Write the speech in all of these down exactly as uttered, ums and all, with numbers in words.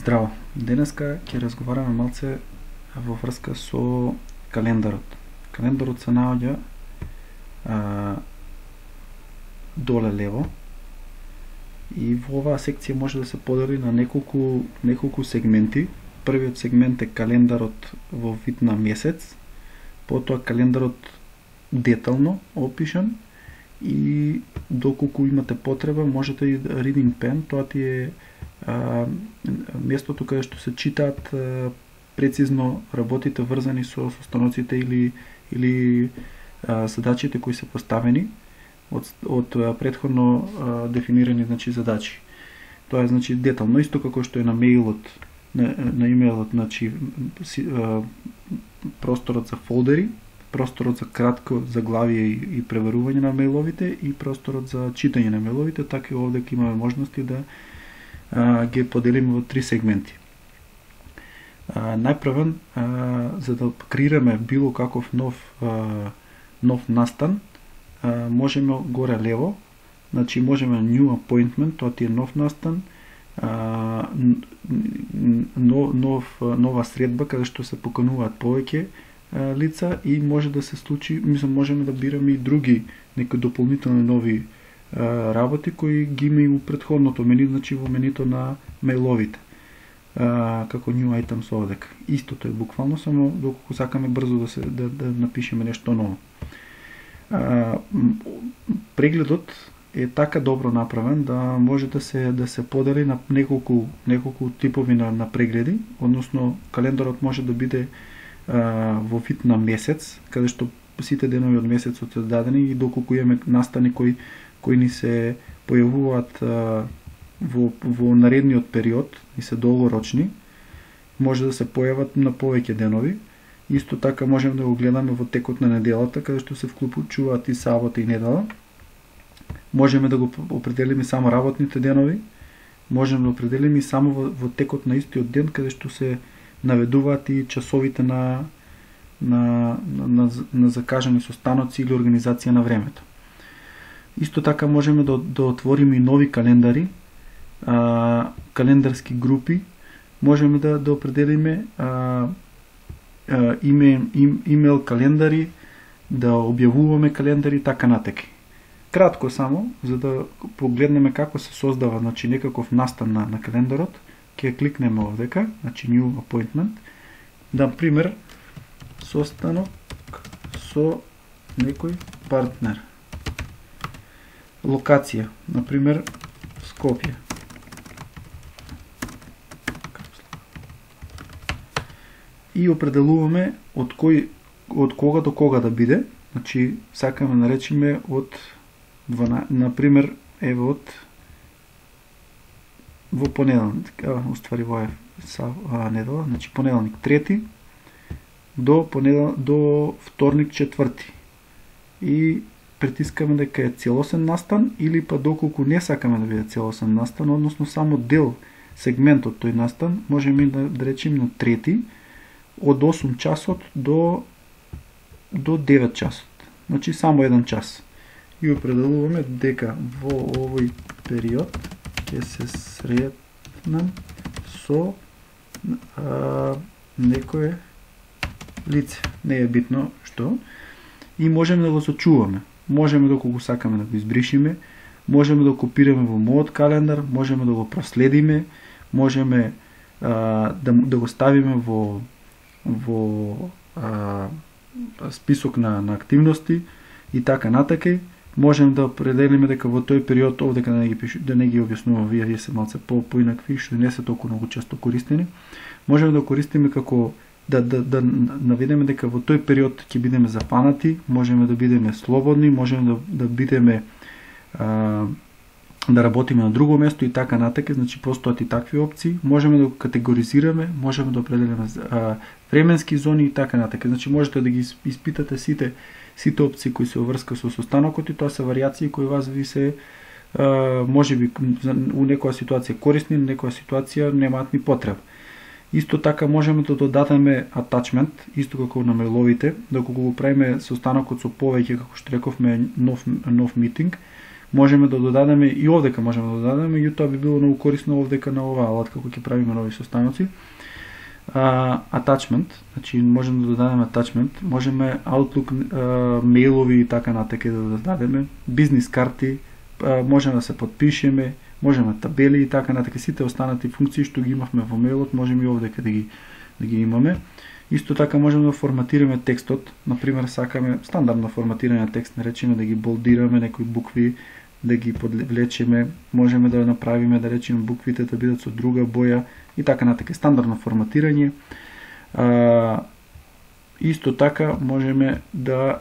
Здраво! Денеска ќе разговараме малце во врска со календарот. Календарот се наоѓа а, доле лево и во оваа секција може да се подели на неколку, неколку сегменти. Првиот сегмент е календарот во вид на месец, потоа календарот детално опишан и доколку имате потреба можете и reading pen, тоа ти е а, местото каде што се читаат а, прецизно работите врзани со состаноците или или а, задачите кои се поставени од од а, претходно а, дефинирани значи задачи. Тоа е значи детално, исто како што е на мејлот, на, на имејлот, значи си, а, просторот за фолдери, просторот за кратко заглавие и, и преверување на мејловите и просторот за читање на мејловите, така и овде ќе имаме можности да а, ги поделиме во три сегменти. А, најпрвен, а, за да креираме било каков нов а, нов настан, а, можеме горе лево, значи можеме new appointment, тоа ти е нов настан, а, нов, нов, нова средба каде што се покануваат повеќе а, лица и може да се случи, мислам, можеме да бираме и други некои дополнителни нови а, работи кои ги има и у претходното мени, значи во менито на мејловите. Uh, како new items овдека. Истото е буквално, само доколку сакаме брзо да се да, да напишеме нешто ново. Uh, прегледот е така добро направен да може да се да се подели на неколку неколку типови на, на прегледи, односно календарот може да биде uh, во вид на месец, каде што сите денови од месецот се дадени и доколку имаме настани кои кои ни се појавуваат uh, Во, во наредниот период и се долгорочни, може да се појават на повеќе денови. Исто така можеме да го гледаме во текот на неделата, каде што се вклучуваат и сабота и недела. Можеме да го определиме само работните денови, можеме да определиме и само во, во текот на истиот ден, каде што се наведуваат и часовите на, на, на, на, на закажани состаноци или организација на времето. Исто така можеме да, да отвориме и нови календари, А, календарски групи, можеме да, да определиме а, а, име, им, имейл календари, да објавуваме календари, така натеки. Кратко само, за да погледнеме како се создава, значи некаков настан на, на календарот, ќе кликнеме овдека, значи new appointment, да, пример, состанок со некој партнер. Локација, например, Скопје. И определуваме од кој од кога до кога да биде, значи сакаме да наречиме од дванаесет, на пример, еве од во понеделник, а уствари во е са а, недела, значи понеделник трети до понедел до вторник четврти. И притискаме дека е целосен настан или па доколку не сакаме да биде целосен настан, односно само дел сегмент од тој настан, можеме да, да речеме на трети од осум часот до до девет часот. Значи само еден час. И определуваме дека во овој период ќе се сретнам со а, некое лице. Не е битно што. И можеме да го сочуваме. Можеме доколку сакаме да го избришиме, можеме да го копираме во мојот календар, можеме да го проследиме, можеме а, да, да го ставиме во во а, список на, на активности и така натака. Можеме да определиме дека во тој период овдека да не ги пишу, да не ги објаснувам, вие вие се малце по поинакви, што не се толку многу често користени. Можеме да користиме како да да да наведеме дека во тој период ќе бидеме запанати, можеме да бидеме слободни, можеме да да бидеме а, да работиме на друго место и така натака, значи постојат и такви опции. Можеме да го категоризираме, можеме да определиме а, временски зони и така натака. Значи можете да ги испитате сите сите опции кои се врска со состанокот и тоа се варијации кои вас ви се а, можеби у некоја ситуација корисни, на некоја ситуација немаат ни потреба. Исто така можеме да додадеме attachment, исто како на мејловите, доколку го правиме состанокот со повеќе, како што рековме, нов нов митинг, можеме да додадеме и овдека можеме да додадеме, меѓутоа би било многу корисно овдека на оваа алатка кога ќе правиме нови состаноци. Uh, attachment, значи можеме да додадеме attachment, можеме Outlook uh, мејлови и така натака да додадеме, бизнис карти, uh, можеме да се подпишеме, можеме табели и така натака, сите останати функции што ги имавме во мејлот, можеме и овдека да ги да ги имаме. Исто така можеме да форматираме текстот, например сакаме стандардно форматирање на текст, наречеме да ги болдираме некои букви, да ги подвлечеме, можеме да направиме да речеме буквите да бидат со друга боја и така натака, стандардно форматирање. А, исто така можеме да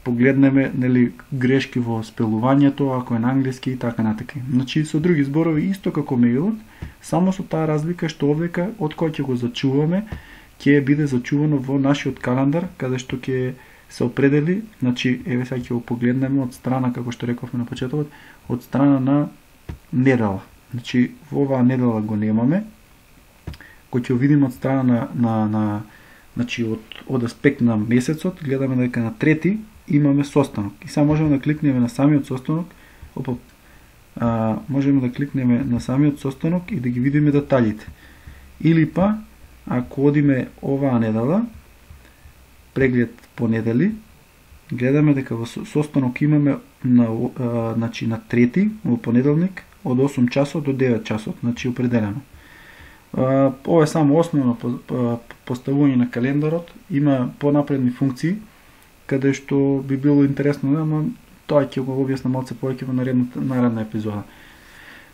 погледнеме нели грешки во спелувањето, ако е на англиски и така натака. Значи со други зборови исто како мејлот, само со таа разлика што овдека од кој ќе го зачуваме, ќе биде зачувано во нашиот календар, каде што ќе се определи, значи еве сега ќе го погледнеме од страна, како што рековме на почетокот, од страна на недела. Значи во оваа недела го немаме, кој ќе видиме од страна на на на значи од од аспект на месецот, гледаме дека на трети имаме состанок. И сега можеме да кликнеме на самиот состанок, опа, а, можеме да кликнеме на самиот состанок и да ги видиме деталите. Или па, ако одиме оваа недела, преглед по недели, гледаме дека во состанок имаме на, а, значи, на трети, во понеделник, од осум часот до девет часот, значи определено. А, ова е само основно поставување на календарот, има понапредни функции, каде што би било интересно, ама тоа ќе го објаснам малце повеќе во наредната наредна епизода.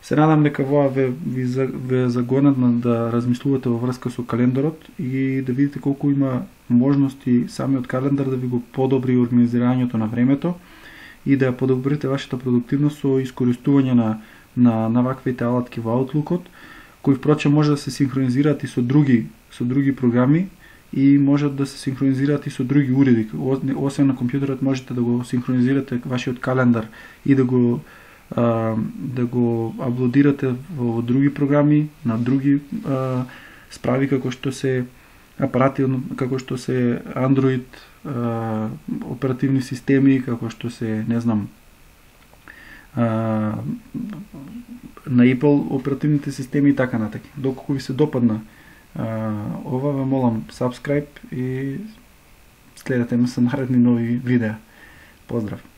Се надам дека воа ве, ви, ве загонат да размислувате во врска со календарот и да видите колку има можности самиот календар да ви го подобри организирањето на времето и да подобрите вашата продуктивност со искористување на на на ваквите алатки во Outlookот, кои впрочем може да се синхронизираат и со други со други програми и можат да се синхронизираат и со други уреди. Освен на компјутерот можете да го синхронизирате вашиот календар и да го а, да го аплодирате во други програми, на други а, справи како што се апарати, како што се Android а, оперативни системи, како што се, не знам, а, на Apple оперативните системи и така натака. Доколку ви се допадна а, ова, ве молам subscribe и следете ме со наредни нови видеа. Поздрав!